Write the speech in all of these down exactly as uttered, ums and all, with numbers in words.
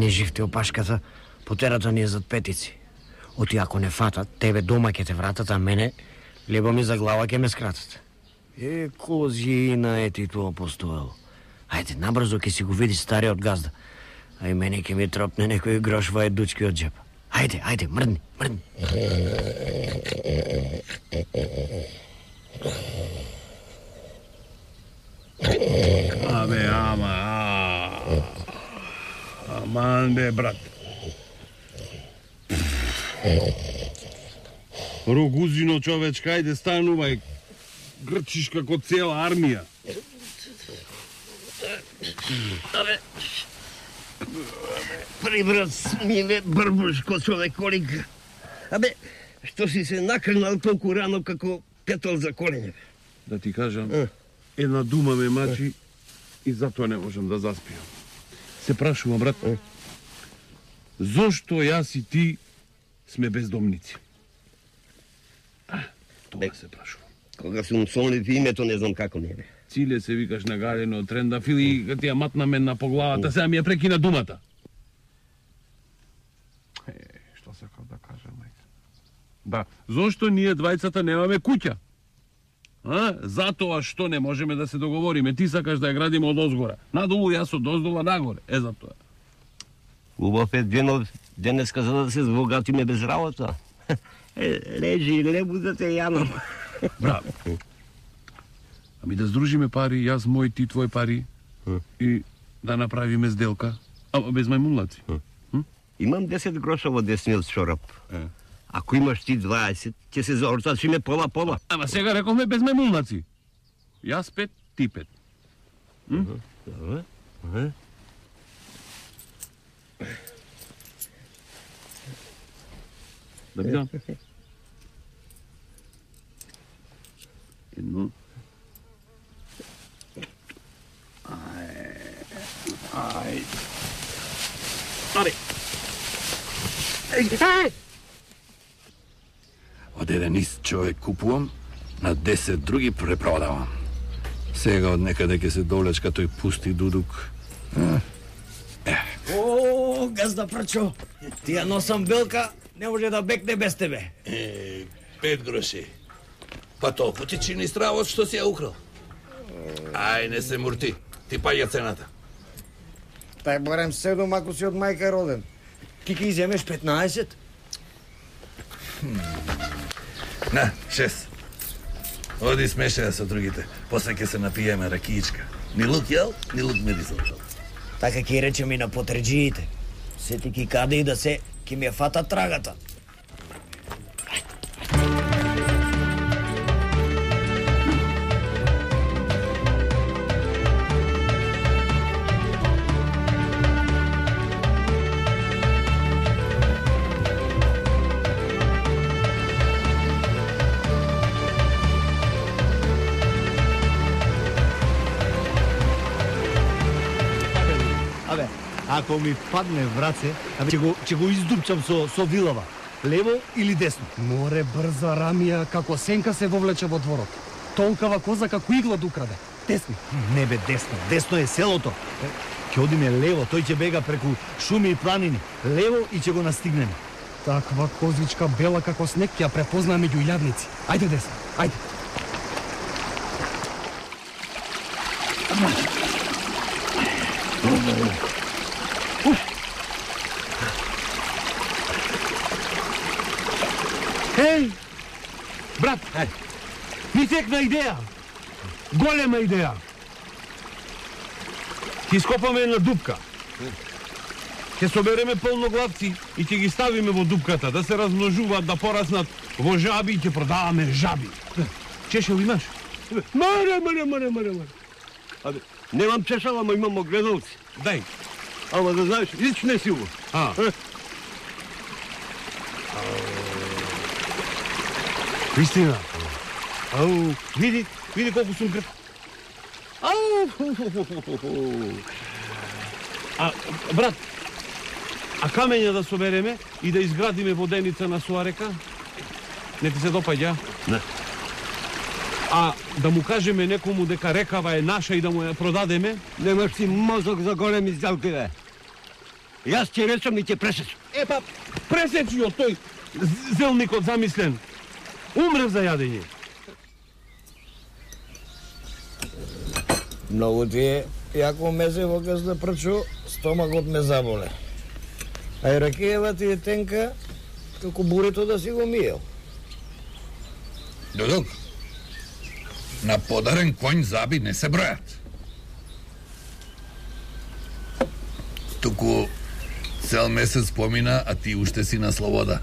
не живте опашката, потерата ни е зад петици. Оти ако не фатат, тебе дома ќе те вратат, а мене лебо ми за глава ќе ме скратат. Е, козина е ти тоа постоело. Ајде, набрзо ќе си го види стариот газда. А и мене ќе ми тропне некој грош во едучки од джепа. Ајде, ајде, мрдни, мрдни. Абе, ама, аман бе, брат. Рогузино, човечка, ајде станувај. Грчиш како цела армија. Абе, прибрат смиле брбушко човеколик. Абе, што си се накрнал толку рано како петол за колене? Да ти кажам, една дума ме мачи и затоа не можам да заспиам. Се прашувам, брат, зошто јас и ти сме бездомници? А, тоа се прашувам. Кога сум сонлив името не знам како не бе. Циле се викаш нагалено од трендафил и ти ја матна мен на поглавата, сега ми ја прекина думата. Е, што сакав да кажам, мајка? Да, зошто ние двајцата немаме куќа? А? Затоа што не можеме да се договориме. Ти сакаш да ја градиме од озгора. Надолу, јас од оздола нагоре. Е, затоа. Убав е денот, денеска за да се збогатиме без работа. Е, лежи, лебу да те јанам. Браво. Ами да здружиме пари, јас мој, ти твој пари и да направиме сделка, ама без мајмунлаци. Имам десет гроша во десниот чорап. Е. Ако имаш ти дваесет, ќе се заортачиме пола-пола. Ама сега рековме без мајмунлаци. Јас пет, ти пет. Добре. Да видам. Едно. Ај. Аре. Еј! Од еден ист човек купувам, на десет други препродавам. Сега од некаде ќе се довлечка тој пусти дудук. О, газда Прчо, ти ја носам белка, не може да бекне без тебе. Е, пет гроши. Па толку ти чини стравот што си ја украл. Ај, не се мурти. Ти паѓа цената. Тај барем седум ако си од мајка роден. Ти ки иземеш петнаесет? На, шест. Оди смешаја со другите. После ќе се напиеме ракиичка. Ни лук јел, ни лук мирисал. Така ќе речем и на потреджиите. Сети ки каде и да се, ки ми ја фата трагата. Ако ми падне в раце, ќе го, ќе го издупчам со, со вилава. Лево или десно? Море брза рамија, како сенка се вовлече во дворот. Толкава коза како игла да украде. Десни. Не бе, десно. Десно е селото. Ќе одиме лево, тој ќе бега преку шуми и планини. Лево и ќе го настигнеме. Таква козичка бела како снег ќе ја препознаа меѓу илјадници. Ајде десно, ајде. Еј, брат, е, ми текна идеја. Голема идеја. Ќе ископаме една дупка. Ќе собереме полноглавци и ќе ги ставиме во дупката, да се размножуваат, да пораснат во жаби и ќе продаваме жаби. Чешел имаш? Маре, маре, маре, маре, маре. Абе, немам чешал, ама имам огледалци. Дај. Ама да знаеш, личне си го. А. Вистина. Ау, види, види колку сум грб. Ау. А, брат, а камења да собереме и да изградиме воденица на Суарека? Не ти се допаѓа? Не. А да му кажеме некому дека рекава е наша и да му ја продадеме? Немаш си мозок за големи сделки, бе. Јас ќе речам и ќе пресечам. Е па, пресечи од тој зелникот замислен. Умрев за јадење. Многу ти е јако мезево газда прчо, стомагот ме заболе. А и ракиева ти е тенка, како бурето да си го миел. Додок, на подарен конј заби не се бројат. Туку цел месец помина, а ти уште си на слобода.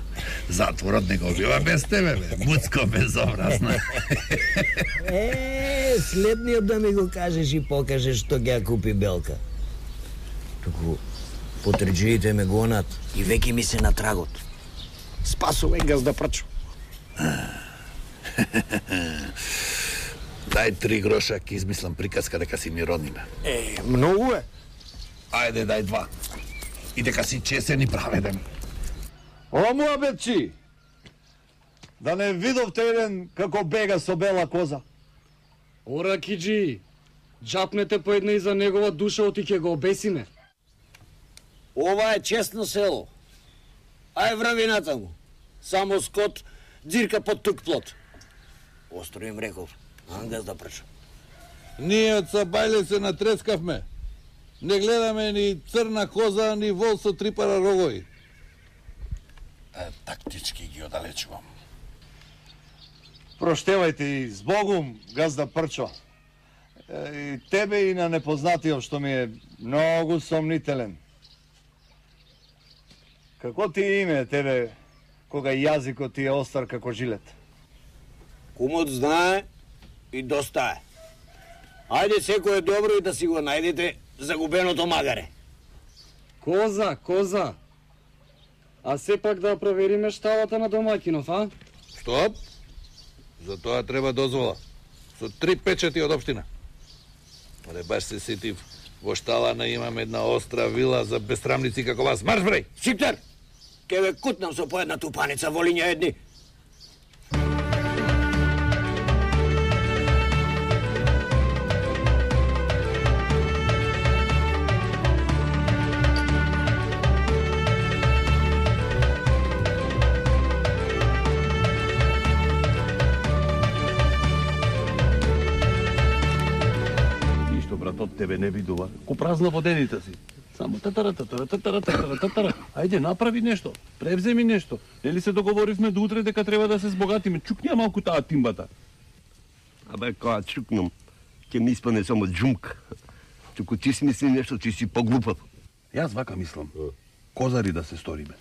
Затворот не го бива без тебе, бе. Муцко безобразна. Е, следниот да ми го кажеш и покажеш што ќе ја купи Белка. Туку, потреđиите ме гонат и веќе ми се на трагот. Спасувај газда прчо. Дај три гроша, ќе измислам приказка дека си ми родниме. Е, многу е. Ајде, дај два. И дека си чесен и праведен. О, муабетчи! Да не видовте еден како бега со бела коза. Ора, Киджи, джапнете по една и за негова душа, оти ќе го обесиме. Ова е честно село. Ај врави натаму. Само скот дзирка под тук плот. Остро им реков, ангаз да прча. Ние од Сабајле се натрескавме. Не гледаме ни црна коза, ни вол со три пара рогови. Е, тактички ги одалечувам. Проштевајте и с Богум, газда Прчо. Е, и тебе и на непознатиот што ми е многу сомнителен. Како ти е име тебе, кога јазикот ти е остар како жилет? Кумот знае и доста е. Ајде секој е добро и да си го најдете загубеното магаре. Коза, коза. А сепак да провериме шталата на домакинов, а? Стоп! За тоа треба дозвола. Со три печати од општина. Але баш се сетив, во шталана имам една остра вила за бесрамници како вас. Марш, бреј! Шиптер, ке ве кутнам со по една тупаница волиња едни. Од тебе не видува, ко празна водените си. Само татара, татара, татара, татара, татара. Ајде, направи нешто, превземи нешто. Нели се договоривме до утре дека треба да се збогатиме. Чукни малку таа тимбата. Абе, кога чукнам, ќе ми испане само джумк. Туку ти си мисли нешто, ти си поглупав. Јас вака мислам. Козари да се сториме.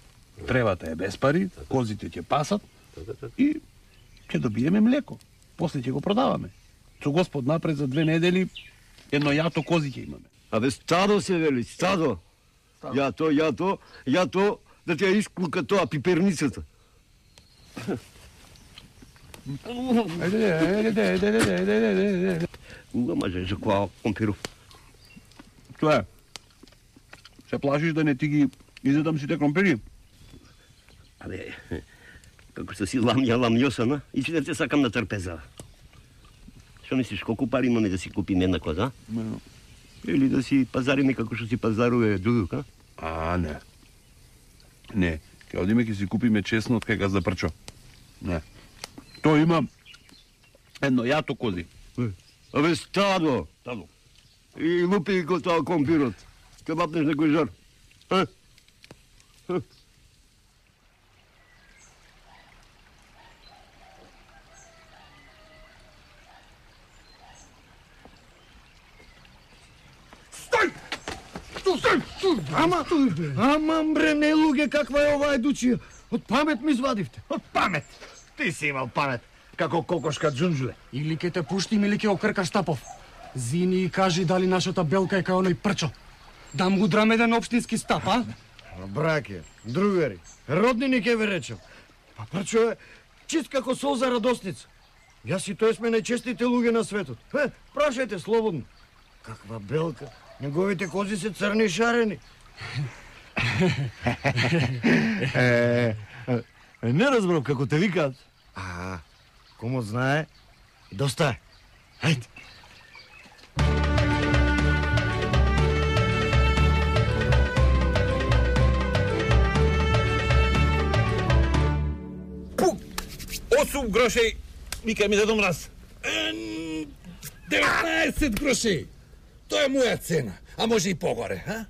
Тревата е без пари, козите ќе пасат и ќе добиеме млеко. После ќе го продаваме. Со Господ напред за две недели едно јато кози ќе имаме. Абе, стадо се вели, стадо. Јато, јато, јато, да ти ја исклука тоа пиперницата. Ајде, ајде, ајде, ајде, ајде, ајде. Не може за која компиров. Тоа е. Се плашиш да не ти ги изедам сите кромпири? Абе, како што си ламја ламјосана, и че да те сакам на трпеза. Што мислиш, колку пари имаме да си купиме една коза? Или да си пазариме како што си пазарува другук, а? А, не. Не, ќе одиме ќе си купиме чесно од кај газда Прчо. Не. Тој има едно јато кози. Абе, стадо! Стадо. И лупи го тоа компирот. Ке бапнеш некој жар. А? Ама, ама бре, не луѓе, каква е оваа едуција? Од памет ми извадивте. Од памет. Ти си имал памет, како кокошка джунџуле. Или ке те пуштим, или ке окркаш Стапов. Зини и кажи дали нашата Белка е кај оној Прчо. Да му удрам еден општински стап, а? Браке, другари, роднини ке ве речем. Па Прчо е чист како солза радосница. Јас и тој сме најчестите луѓе на светот. Е, прашајте слободно. Каква Белка? Неговите кози се црни и шарени. Е, не разбрав како те викаат. А, комот знае, доста е. Хајде. осум грошеј, вика ми дедо Мраз. деветнаесет грошеј. Тоа е моја цена, а може и погоре, а?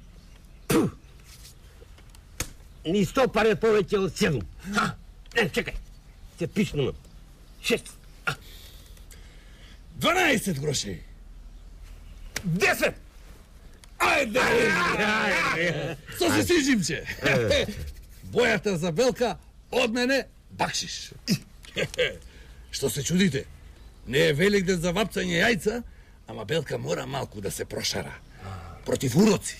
Ни сто пари повеќе од седум. Ха? Е, чекај. Се пишнувам. Шест. дванаесет грошеј. десет. Ајде! Што се сижимче? Бојата за Белка од мене бакшиш. Што се чудите? Не е Великден за вапцање јајца, ама Белка мора малку да се прошара. Против уроци.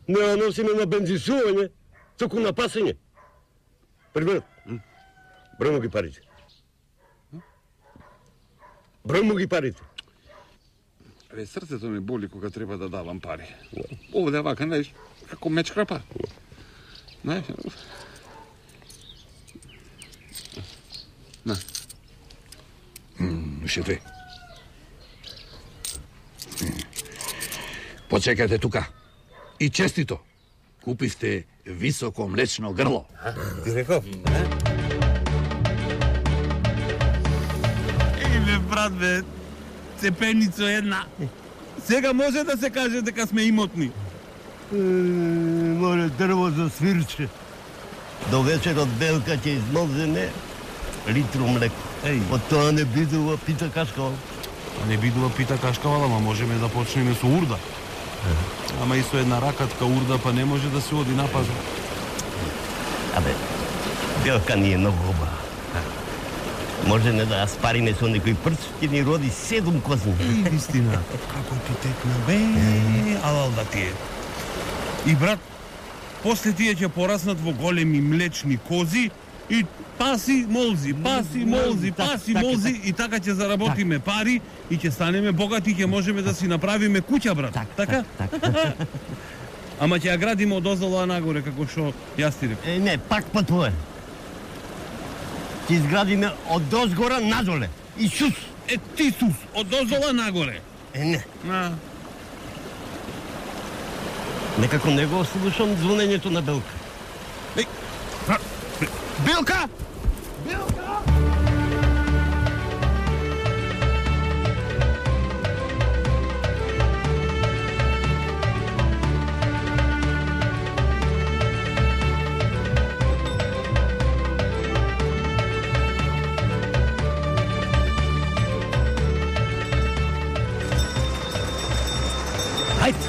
Не носиме на бензисување, току на пасење. Прибрат. Бројмо ги парите. Бројмо ги парите. Абе, срцето ми боли кога треба да давам пари. Овде вака, знаеш, како меч крапа. Знаеш? На. Уште две. Почекате тука. И честито. Купивте високо млечно грло. Ти реков? Еве, брат, бе, цепеница една. Сега може да се каже дека сме имотни. Море дрво за свирче. До вечерот Белка ќе измолземе литру млеко. Еј. Од тоа не бидува пита кашкава. Не бидува пита кашкавал, ама можеме да почнеме со урда. Ама и со една ракатка урда, па не може да се оди на пазар. Абе, Белка ни е многу убава. Може не да ја спариме со некој прц, ќе ни роди седум козни. И вистина, како ти текна, бе, алал да ти е. И брат, после тие ќе пораснат во големи млечни кози и паси молзи, паси молзи, паси молзи и така ќе заработиме пари и ќе станеме богати и ќе можеме да си направиме куќа, брат. Така? Ама ќе ја градиме од озола нагоре, како што јас ти реков. Е, не, пак па тоа. Ќе изградиме од озгора надоле. Исус! Е, ти сус, од озола нагоре. Е, не. А. Некако не го слушам звонењето на Белка. Еј, Белка! Ајде!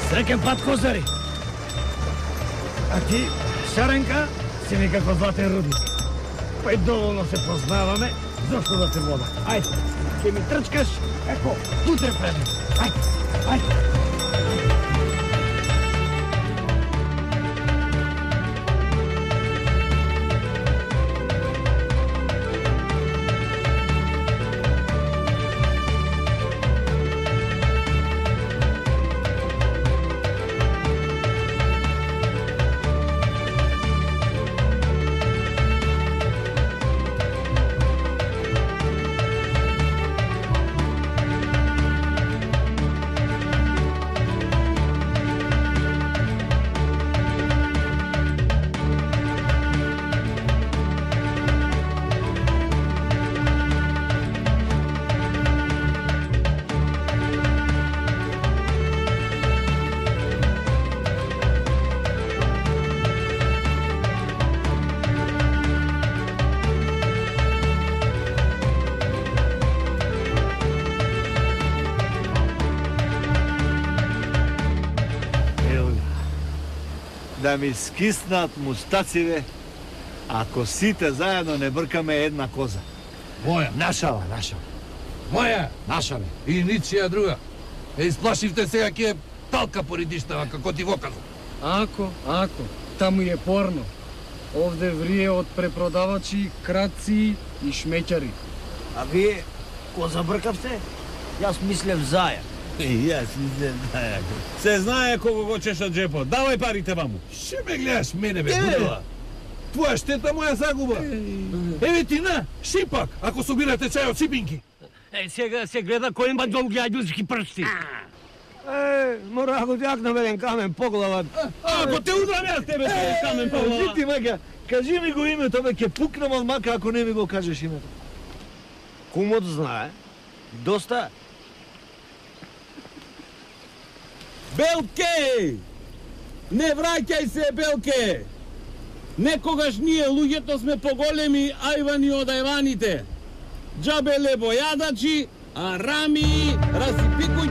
Среќен пат, козари! А ти, Шаренка, си ми како златен рудник. Па и доволно се познаваме, зашто да те вода. Ајде, ќе ми трчкаш, еко, утре предем. Ајде, ајде. Да ми скиснат мустациве, ако сите заедно не бркаме една коза. Моја. Нашава, нашава. Моја. Наша бе. И ничија друга. Е, исплашивте сега ќе талка поридиштава, како ти го казав. Ако, ако, таму е порно. Овде врие од препродавачи, крадци и шмеќари. А вие, ко забркавте? Јас мислев заја. Јас мислев заја. Се знае кого го чеша джепот. Давај парите ваму. Ше ме гледаш мене, бе, будела? Твоја штета, моја загуба. Еве ти на, шипак, ако собирате чај од шипинки. Е, сега се гледа кој има долги ајдуски прсти. Е, мора ако ти акнам еден камен по глава. Ако те удрам јас тебе со камен по глава. Ти мака, кажи ми го името, бе, ќе пукнам од мака ако не ми го кажеш името. Кумот знае. Доста. Белке! Не враќај се, Белке! Некогаш ние луѓето сме поголеми ајвани од ајваните. Џабеле бојадачи, а рами расипикуј